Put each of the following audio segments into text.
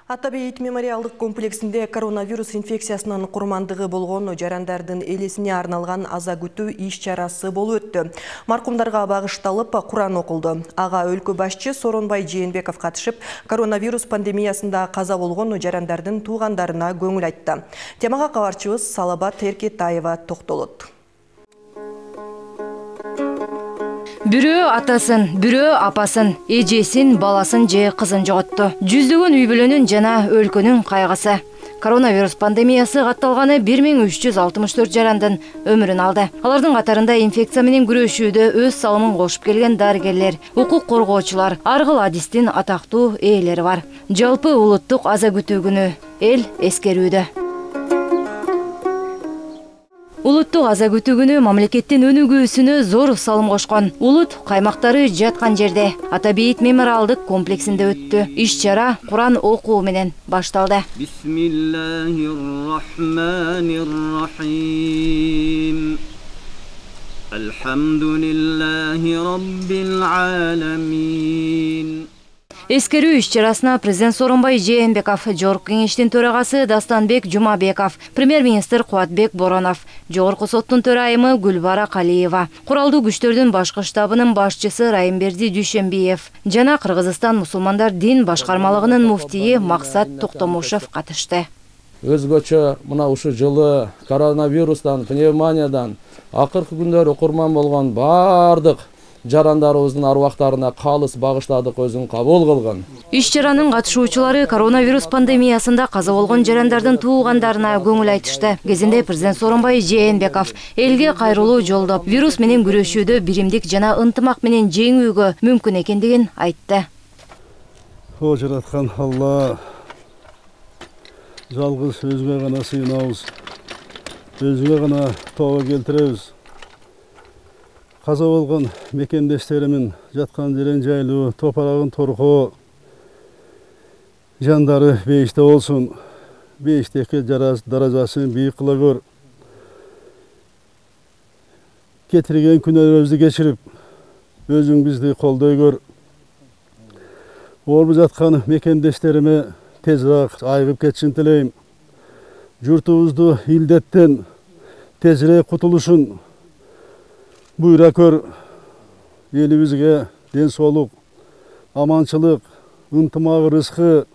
Ата Бейит мемориалдык комплексинде коронавирус инфекциясынын курмандыгы болгон жарандардын элесине арналган аза күтүү иш-чарасы болуп өттү. Маркумдарга багышталып Куран окулду. Ага өлкө башчы Сооронбай Жээнбеков катышып, коронавирус пандемиясында каза болгон жарандардын туугандарына көңүл айтты. Темага кабарчыбыз Салабат Эркетаева токтолот. Бирөө атасын, бирөө апасын, эжесин, баласын же кызын жоготту. Жүздөгөн үй бүлөнүн жана өлкөнүн кайгысы. Коронавирус пандемиясы катталганы 1364 жарандын өмүрүн алды. Алардын катарында инфекция менен күрөшүүдө өз салымын кошуп келген дарыгерлер, укук коргоочулар, ар кыл адистин атактуу ээлери бар. Жалпы улуттук аза күтүү күнү эл эскерүүдө. Улуттук аза күтүү күнү мамлекеттин өнүгүүсүнө зор салым кошкон. Улут каймактары жаткан жерде Ата Бейит мемориалдык комплексинде өттү. Иш-чара Куран окуу менен башталды. Бисмиллахир-рахманир-рахим. Алхамдулиллахи раббил аламин. Эскерүү иш-чарасына президент Сооронбай Жээнбеков, Жогорку кеңештин төрагасы Дастанбек Жумабеков, премьер-министр Кубатбек Боронов, Жогорку соттун төрайымы Гүлбара Калиева, куралдуу күчтөрдүн башкы штабынын башчысы Райымберди Дүйшөнбиев жана Кыргызстан мусулмандар дин башкармалыгынын муфтийи Максат Токтомушев катышты. Өзгөчө мына ушул жылы коронавирустан, пневмониядан акыркы күндөрү курман болгон бардык жарандарыбыздын аруактарына калыс багыштадык, өзүн кабыл кылгын. Иш-чаранын катышуучулары коронавирус пандемиясында каза болгон жарандардын туугандарына көңүл айтышты. Кезинде президент Сооронбай Жээнбеков элге кайрылуу жолдоп, вирус менен күрөшүүдө биримдик жана ынтымак менен жеңүүгө мүмкүн экендигин айтты. О жараткан Алла, жалгыз өзүңө гана сыйынабыз, өзүңө гана тооба келтиребиз. Каза болгон мекендештеримин жаткан жерин жайлуу, топурагын торкоо, жандары бейиште болсун, бейиштеки даражасын бийик кыла көр. Кетирген күнөөлөрүбүздү кечирип, өзүң бизди колдой көр. Орбу жаткан мекендештериме тезирээк айыгып кетишин тилейм. Журтубузду илдеттен тезирээк кутулушун буйра көр. Элибизге ден соолук, аманчылык, ынтымак, рызкы,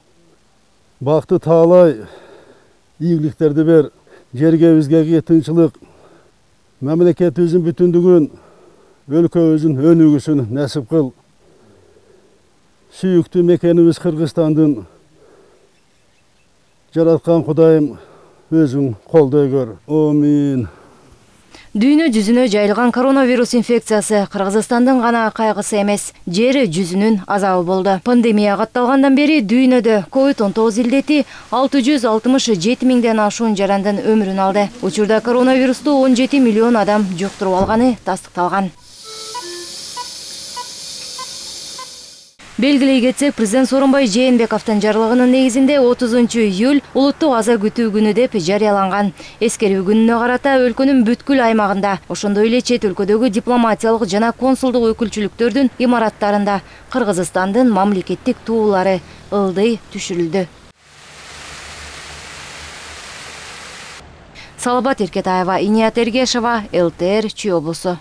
бакты таалай, ийгиликтерди бер. Жергебизге тынчылык, мамлекетибиздин бүтүндүгүн, өлкөбүздүн өнүгүүсүн насип кыл. Сүйүктүү мекенибиз Кыргызстандын жараткан Кудайым өзүң колдой көр. Амин. Дүйнө жүзүнө жайылган коронавирус инфекциясы Кыргызстандын гана кайгысы эмес, жер жүзүнүн азабы болду. Пандемия катталгандан бери дүйнөдө COVID-19 илдети 667 миңден ашуун жарандын өмүрүн алды. Учурда коронавирусту 17 миллион адам жуктуруп алганы тастыкталган. Белгилей кетсек, президент Сооронбай Жээнбековдун жарлыгынын негизинде 30 июль улуттук аза күтүү күнү деп жарыяланган. Эскерүү күнүнө карата өлкөнүн бүткүл аймагында, ошондой эле чет өлкөдөгү дипломатиялык жана консулдук өкүлчүлүктөрдүн имараттарында Кыргызстандын мамлекеттик туулары ылдый түшүрүлдү. Салабат Эркетаева, Иният Эргешова, ЛТР Чүй облусу.